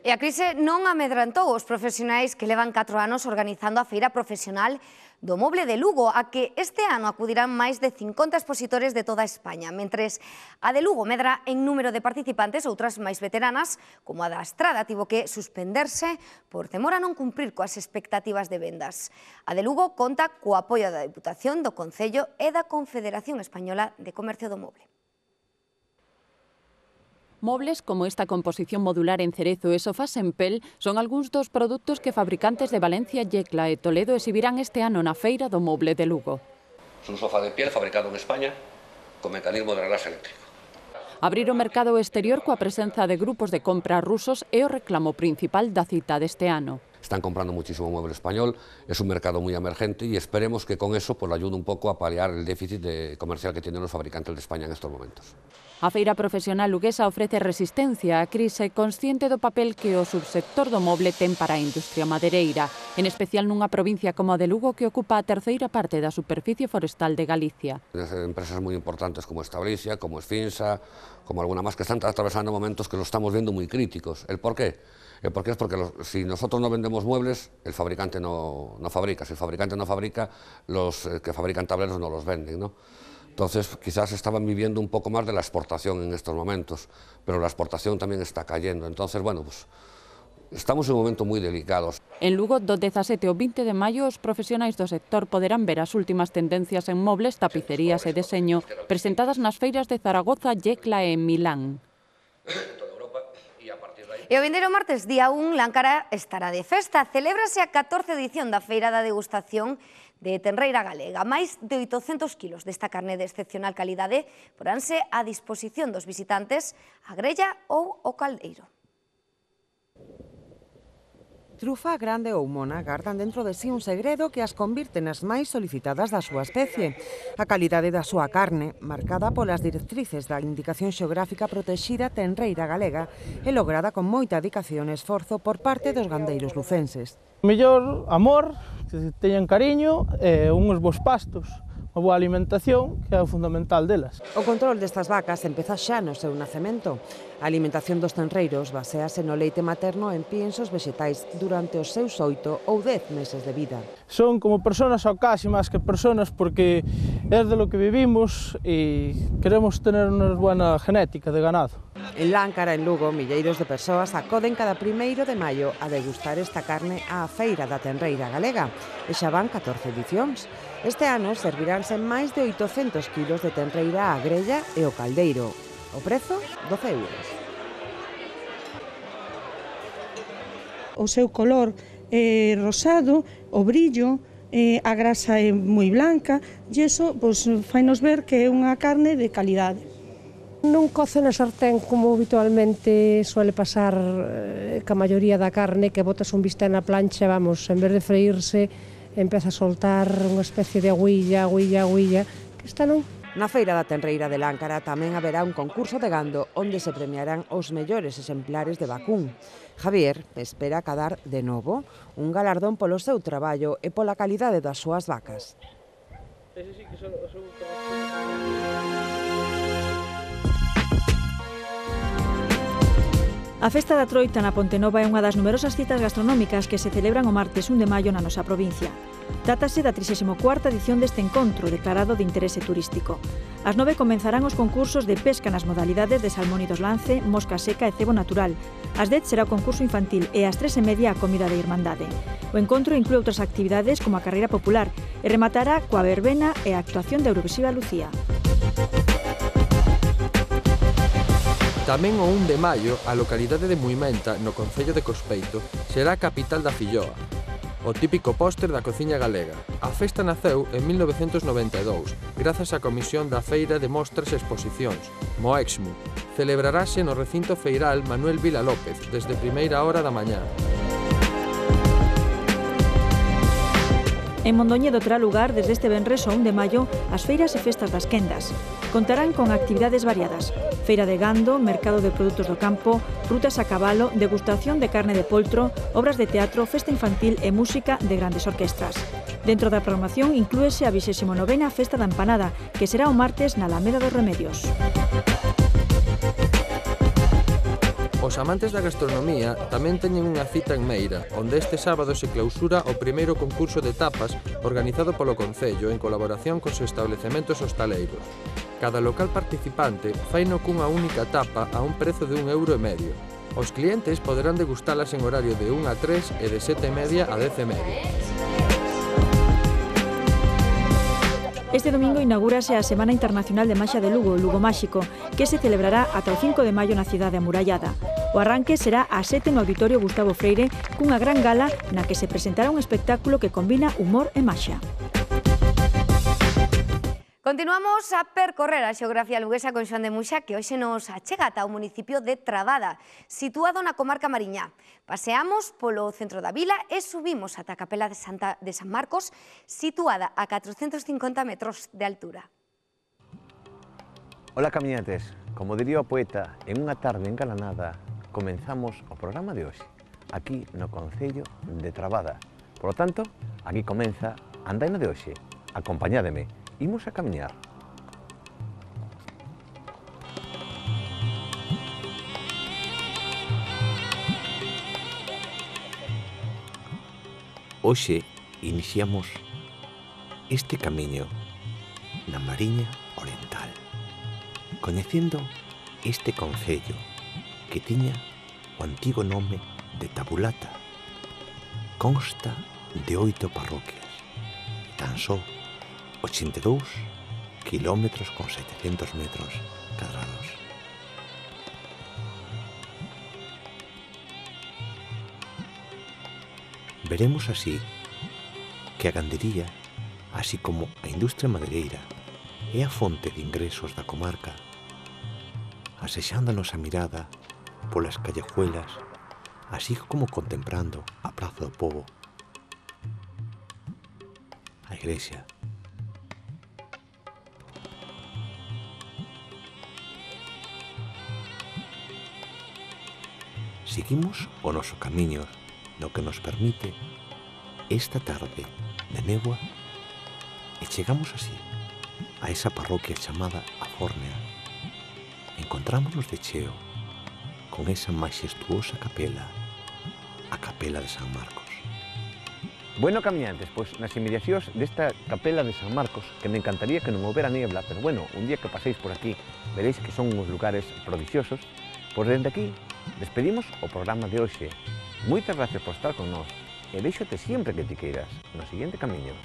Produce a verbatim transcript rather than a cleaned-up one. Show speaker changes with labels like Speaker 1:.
Speaker 1: E a crise non amedrantou os profesionais que levan catro anos organizando a Feira Profesional do Moble de Lugo, a que este ano acudirán máis de cincuenta expositores de toda España, mentres a de Lugo medra en número de participantes, outras máis veteranas, como a da Estrada, tivo que suspenderse por temor a non cumprir coas expectativas de vendas. A de Lugo conta co apoio da Deputación, do Concello e da Confederación Española de Comercio do Moble.
Speaker 2: Mobles como esta composición modular en cerezo e sofás en pel son algúns dos produtos que fabricantes de Valencia, Yecla e Toledo exhibirán este ano na Feira do Moble de Lugo.
Speaker 3: Es un sofá de piel fabricado en España con mecanismo de reglaje eléctrico.
Speaker 2: Abrir o mercado exterior coa presenza de grupos de compra rusos é o reclamo principal da cita deste ano.
Speaker 3: Están comprando muchísimo mueble español, es un mercado muy emergente y esperemos que con eso pues, ayude un poco a paliar el déficit de comercial que tienen los fabricantes de España en estos momentos.
Speaker 2: A Feira Profesional luguesa ofrece resistencia á crise consciente do papel que o subsector do moble ten para a industria madereira, en especial nunha provincia como a de Lugo que ocupa a terceira parte da superficie forestal de Galicia.
Speaker 3: Empresas muy importantes como Establicia, como Esfinsa, como alguna más que están atravesando momentos que lo estamos viendo muy críticos. ¿El por qué? El por qué es porque los, si nosotros no vendemos muebles, el fabricante no, no fabrica. Si el fabricante no fabrica, los eh, que fabrican tableros no los venden, ¿no? Entonces, quizás estaban viviendo un poco más de la exportación en estos momentos, pero la exportación también está cayendo. Entonces, bueno, pues estamos en un momento muy delicado.
Speaker 2: En Lugo, do dezasete ao vinte de maio, os profesionais do sector poderán ver as últimas tendencias en mobles, tapicerías e deseño presentadas nas feiras de Zaragoza, Yecla e Milán.
Speaker 1: E o vindeiro martes, día un, Láncara estará de festa. Celébrase a catorce edición da Feira da Degustación de Tenreira Galega. Máis de oitocentos kilos desta carne de excepcional calidade poránse a disposición dos visitantes a grella ou o caldeiro.
Speaker 4: Trufa grande ou mona gardan dentro de sí un segredo que as convirte nas máis solicitadas da súa especie. A calidade da súa carne, marcada polas directrices da Indicación Xeográfica Protexida Tenreira Galega, é lograda con moita dedicación e esforzo por parte dos gandeiros lucenses.
Speaker 5: Mellor amor, que teñan cariño e uns bons pastos. A boa alimentación, que é o fundamental delas.
Speaker 4: O control destas vacas empeza xa no seu nacemento. A alimentación dos tenreiros basease no leite materno en piensos vexetais durante os seus oito ou dez meses de vida.
Speaker 5: Son como personas ao casi máis que personas porque é de lo que vivimos e queremos tener unha buena genética de ganado.
Speaker 4: En Láncara, en Lugo, milleiros de persoas acoden cada primeiro de maio a degustar esta carne á Feira da Tenreira Galega e xa van catorce edicións. Este ano serviránse máis de oitocentos kilos de tenreira á grella e o caldeiro. O prezo, doce euros.
Speaker 6: O seu color é rosado, o brillo, eh, a grasa é moi blanca e iso pues, fainos ver que é unha carne de calidade.
Speaker 7: Non coce na sartén como habitualmente suele pasar eh, ca maioría da carne, que botas un bistec na plancha, vamos, en vez de freírse, empeza a soltar unha especie de agüilla, agüilla, agüilla, que esta non.
Speaker 4: Na Feira da Tenreira de Láncara tamén haberá un concurso de gando onde se premiarán os mellores exemplares de vacún. Javier espera cadar de novo un galardón polo seu traballo e pola calidade das súas vacas.
Speaker 8: A Festa da Troita na Pontenova é unha das numerosas citas gastronómicas que se celebran o martes un de maio na nosa provincia. Trátase da trixésima cuarta edición deste encontro declarado de interese turístico. Ás nove comenzarán os concursos de pesca nas modalidades de salmónidos lance, mosca seca e cebo natural. Ás dez será o concurso infantil e ás tres e media a comida de Irmandade. O encontro inclúe outras actividades como a carreira popular e rematará coa verbena e a actuación de Eurovisiva Lucía.
Speaker 9: Tamén o un de maio, a localidade de Muimenta, no concello de Cospeito, será a capital da filloa, o típico póster da cociña galega. A festa naceu en mil novecentos noventa e dous, grazas á Comisión da Feira de Mostras e Exposicións, Moexmu. Celebrarase no recinto feiral Manuel Vila López, desde primeira hora da mañá.
Speaker 8: En Mondoñedo terá lugar desde este venres ao un de maio as feiras e festas das quendas. Contarán con actividades variadas: feira de gando, mercado de produtos do campo, rutas a cabalo, degustación de carne de poltro, obras de teatro, festa infantil e música de grandes orquestras. Dentro da programación inclúese a vixésima novena Festa da Empanada, que será o martes na Alameda dos Remedios.
Speaker 9: O Os amantes da gastronomía tamén teñen unha cita en Meira, onde este sábado se clausura o primeiro concurso de tapas organizado polo Concello en colaboración cos establecementos hostaleiros. Cada local participante faino cunha única tapa a un prezo de un euro e medio. Os clientes poderán degustalas en horario de un a tres e de sete e media a dez e media.
Speaker 8: Este domingo inaugúrase a Semana Internacional de Maxia de Lugo, Lugo Máxico, que se celebrará ata o cinco de maio na cidade amurallada. O arranque será ás sete no Auditorio Gustavo Freire, cunha gran gala na que se presentará un espectáculo que combina humor e maxia.
Speaker 1: Continuamos a percorrer a xeografía luguesa con Xoán de Muxa, que hoxe nos achega ata o municipio de Trabada, situado na comarca Mariñá. Paseamos polo centro da vila e subimos ata a capela de, Santa, de San Marcos, situada a catrocentos cincuenta metros de altura.
Speaker 10: Ola, camiñantes. Como diría o poeta, en unha tarde engalanada, comenzamos o programa de hoxe, aquí no Concello de Trabada. Por lo tanto, aquí comeza a andaina de hoxe. Acompañádeme. Imos a camiñar. Hoxe iniciamos este camiño na Mariña Oriental, coñecendo este concello que tiña o antigo nome de Tabulata. Consta de oito parroquias, tan só ochenta e dous kilómetros con setecentos metros cadrados. Veremos así que a gandería, así como a industria madereira, é a fonte de ingresos da comarca, asexándonos a mirada polas callejuelas, así como contemplando a Praza do Pobo, a igrexa, seguimos o noso camiño, no que nos permite esta tarde de néboa e chegamos así a esa parroquia chamada A Fórnea. Encontrámonos de cheo con esa majestuosa capela, a Capela de San Marcos. Bueno, camiñantes, pois nas inmediacións desta Capela de San Marcos, que me encantaría que non houbera niebla, pero bueno, un día que paséis por aquí veréis que son uns lugares prodigiosos. Pois dende aquí despedimos o programa de hoxe. Moitas gracias por estar con nós e déixote sempre que ti queiras no seguinte camiño.